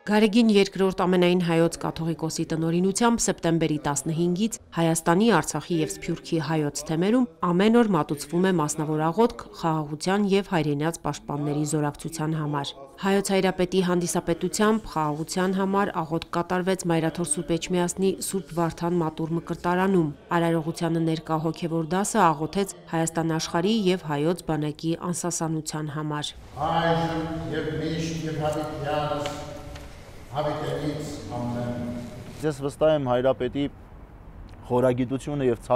Գարեգին II ամենայն հայոց կաթողիկոսի տնօրինությամբ սեպտեմբերի 15-ից Հայաստանի, Արցախի և Սփյուռքի հայոց թեմերում ամեն օր մատուցվում է մասնավոր աղոթք խաղաղության և հայրենաց պաշտպանների զորակցության համար։ Հայոց Հայրապետի հանդիսապետությամբ խաղաղության համար աղոթք կատարվեց Մայրաթոր Սուրբ Էջմիածնի Սուրբ Վարդան մատուռ մկրտարանում։ Արարողությանը ներկա հոգևոր դասը աղոթեց Հայաստան աշխարհի և հայոց բանակի անսասանության համար։ Ես վստահ եմ Հայրապետի խորագիտությունը և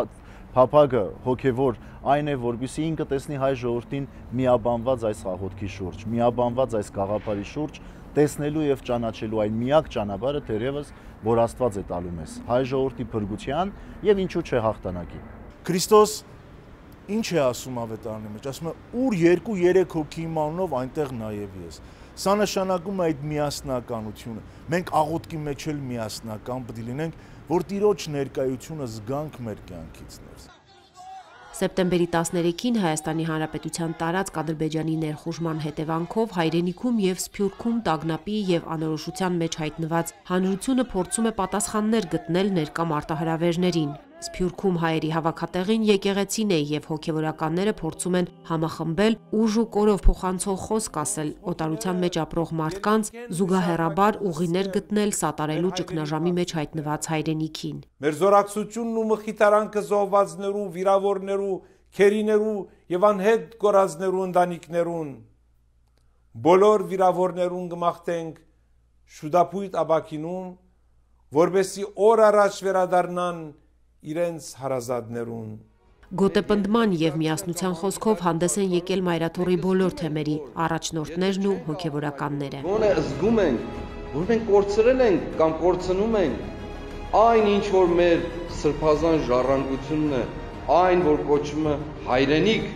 փափագը հոգևոր այն է, որպեսզի ինքը տեսնի հայ ժողովրդին միաբանված այս աղոթքի շուրջ, միաբանված այս գաղափարի շուրջ, տեսնելու և ճանաչելու այն միակ ճանապարհը թերևս, որ Աստված է տալու մեզ, հայ ժողովրդի փրկության և ինչու՞ չէ հաղթանակի։ Քրիստոս ինչ է ասում ավետարանի մեջ, ասում է ուր 2-3 հոգի իմանով այնտեղ նաև ես։ Սա նշանակում է այդ միասնականությունը։ Մենք աղոթքի մեջ էլ միասնական պետք է լինենք, որ Տիրոջ ներկայությունը զգանք մեր կյանքից ներս։ Սեպտեմբերի 13-ին Հայաստանի Հանրապետության տարածք Ադրբեջանի ներխուժման հետևանքով հայրենիքում և Սփյուռքում տագնապի և անորոշության մեջ հայտնված հանրությունը փորձում է պատասխաններ գտնել ներկա մարտահրավերներին։ Սփյուռքում հայերի հավաքատեղին եկեղեցին է և հոգևորականները փորձում են համախմբել ուժ ու կորով փոխանցող խոսք ասել օտարության մեջ ապրող մարդկանց, զուգահեռաբար ուղիներ գտնել սատարելու ճգնաժամի մեջ հայտնված հայրենիքին։ Մեր զորակցությունն ու մխիթարանքը զոհվածներու, վիրավորներու, քերիներու եւ անհետ կորածներու ընտանիքներուն, բոլոր վիրավորներուն կմաղթենք շուտապույտ ապակինում, որբեսի օր առաջ վերադառնան իրենց հարազատներուն։ Գոտեպնդման և միասնության խոսքով հանդես են եկել Մայրաթորի բոլոր թեմերի առաջնորդներն ու հոգևորականները։ Ոնե զգում ենք, որ մենք կորցրել ենք կամ կորցնում ենք այն, ինչ որ մեր սրբազան ժառանգությունն է, այն, որ կոչվում է հայրենիք։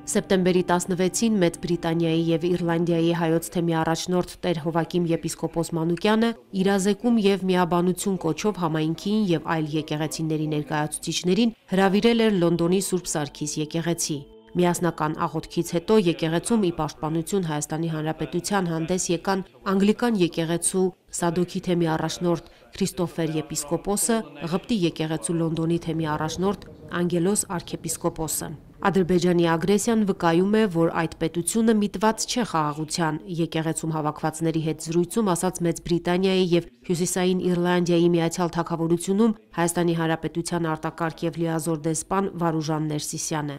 Սեպտեմբերի 16-ին Մեծ Բրիտանիայի և Իռլանդիայի հայոց թեմի առաջնորդ Տեր Հովակիմ եպիսկոպոս Մանուկյանը իրազեկում և միաբանություն կոչով համայնքին և այլ եկեղեցիների ներկայացուցիչներին հրավիրել էր Լոնդոնի Սուրբ Սարգիս եկեղեցի։ Միասնական աղոթքից հետո եկեղեցում ի պաշտպանություն Հայաստանի Հանրապետության հանդես եկան Անգլիկան եկեղեցու Սադոքի թեմի առաջնորդ Քրիստոֆեր եպիսկոպոսը, Ղպտի եկեղեցու Լոնդոնի թեմի առաջնորդ Անգելոս արքեպիսկոպոսը։ Ադրբեջանի ագրեսիան վկայում է, որ այդ պետությունը միտված չէ խաղաղության, եկեղեցում հավաքվածների հետ զրույցում ասաց Մեծ Բրիտանիայի և Հյուսիսային Իռլանդիայի Միացյալ Թագավորությունում Հայաստանի Հանրապետության արտակարգ և լիազոր դեսպան Վարուժան Ներսիսյանը։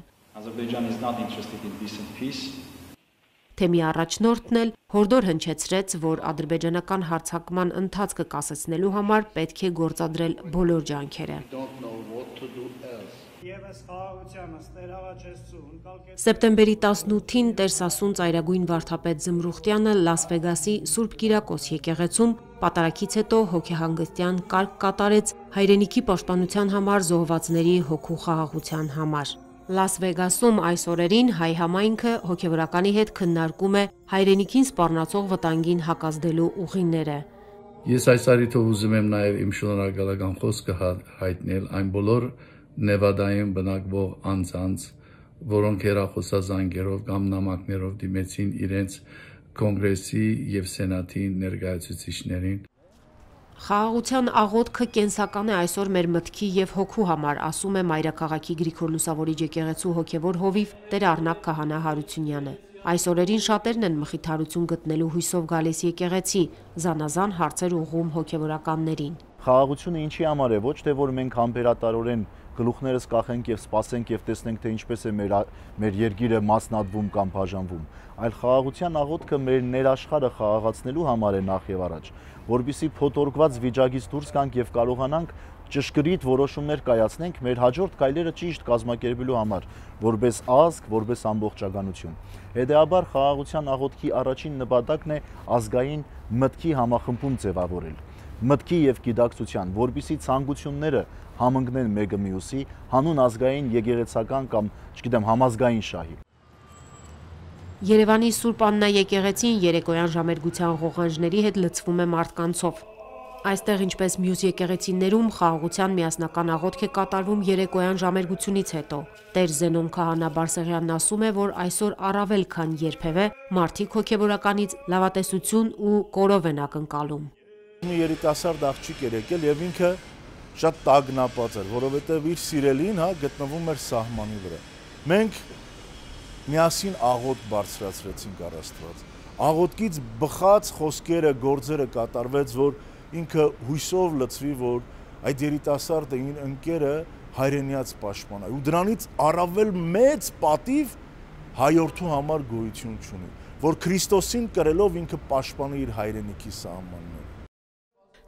Թեմի առաջնորդն էլ հորդոր հնչեցրեց, որ ադրբեջանական հարձակման ընթացքը կասեցնելու համար պետք է գործադրել բոլոր ջանքերը։ Սեպտեմբերի 18-ին Տեր Սասուն ծայրագույն վարդապետ Զմրուխտյանը Լաս Վեգասի Սուրբ Կիրակոս եկեղեցում պատարագից հետո հոգեհանգստյան կարգ կատարեց հայրենիքի պաշտպանության համար զոհվածների հոգու խաղաղության համար։ Լաս Վեգասում այս օրերին հայ համայնքը հոգևորականի հետ քննարկում է հայրենիքին սպառնացող վտանգին հակազդելու ուղիները։ Ես այս առիթով ուզում եմ նաև իմ շնորհակալական խոսքը հայտնել այն բոլոր Նևադայում բնակվող անձանց, որոնք հեռախոսազանգերով կամ նամակներով դիմեցին իրենց կոնգրեսի և սենատի ներկայացուցիչներին։ Խաղաղության աղոթքը կենսական է այսօր մեր մտքի և հոգու համար, ասում է Մայրաքաղաքի Գրիգոր Լուսավորիչ եկեղեցու հոգևոր հովիվ Տեր Առնակ Քահանա Հարությունյանը։ Այս օրերին շատերն են մխիթարություն գտնելու հույսով գալիս եկեղեցի, զանազան հարցեր ուղղում հոգևորականներին։ Խաղաղությունը ինչի համար է, ոչ թե որ մենք համբերատարորեն գլուխներս կախենք և սպասենք և տեսնենք, թե ինչպես է մեր երկիրը մասնատվում կամ բաժանվում, այլ խաղաղության աղոթքը մեր ներաշխարհը խաղաղացնելու համար է նախ եւ առաջ, որպեսզի փոթորկված վիճակից դուրս գանք եւ կարողանանք ճշգրիտ որոշումներ կայացնենք մեր հաջորդ քայլերը ճիշտ կազմակերպելու համար, որպես ազգ, որպես ամբողջականություն։ Հետեւաբար խաղաղության աղոթքի առաջին նպատակն է ազգային մտքի համախմբում ձևավորել, մտքի եւ գիտակցության, որպեսզի ցանկությունները համընկնեն մեկը մյուսի հանուն ազգային եկեղեցական կամ, չգիտեմ, համազգային շահի։ Երևանի Սուրբ Աննա եկեղեցին երեկոյան ժամերգության ղողանջների հետ լցվում է մարդկանցով։ Այստեղ, ինչպես մյուս եկեղեցիներում, խաղաղության միասնական աղոթք է կատարվում երեկոյան ժամերգությունից հետո։ Տեր Զենոն Քահանա Բարսեղյանն ասում է, որ այսօր առավել քան երբևէ մարդիկ հոգևորականից լավատեսություն ու կորով են ակնկալում։ Մի երիտասարդ աղջիկ էր եկել եւ ինքը շատ տագնապած էր, որովհետեւ իր սիրելին գտնվում էր սահմանի վրա։ Մենք միասին աղոթք բարձրացրեցինք առ Աստված։ Աղոթքից բխած խոսքերը, գործերը կատարվեց, որ ինքը հույսով լցվի, որ այդ երիտասարդը իր ընկերը հայրենիաց պաշտպանա։ Ու դրանից առավել մեծ պատիվ հայորդու համար գոյություն չունի, որ Քրիստոսին կրելով ինքը պաշտպանի իր հայրենիքի սահմանները։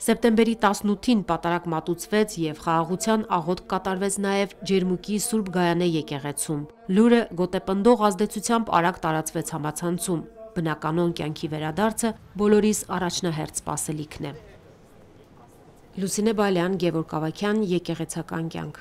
Սեպտեմբերի 18-ին պատարագ մատուցվեց եւ խաղաղության աղոթք կատարվեց նաեւ Ջերմուկի Սուրբ Գայանե եկեղեցում։ Լուրը գոտեպնդող ազդեցությամբ արագ տարածվեց համացանցում։ Բնականոն կյանքի վերադարձը բոլորիս առաջնահերթ սպասելիքն է։ Լուսինե Բալյան, Գևորգ Ավագյան, Եկեղեցական կյանք։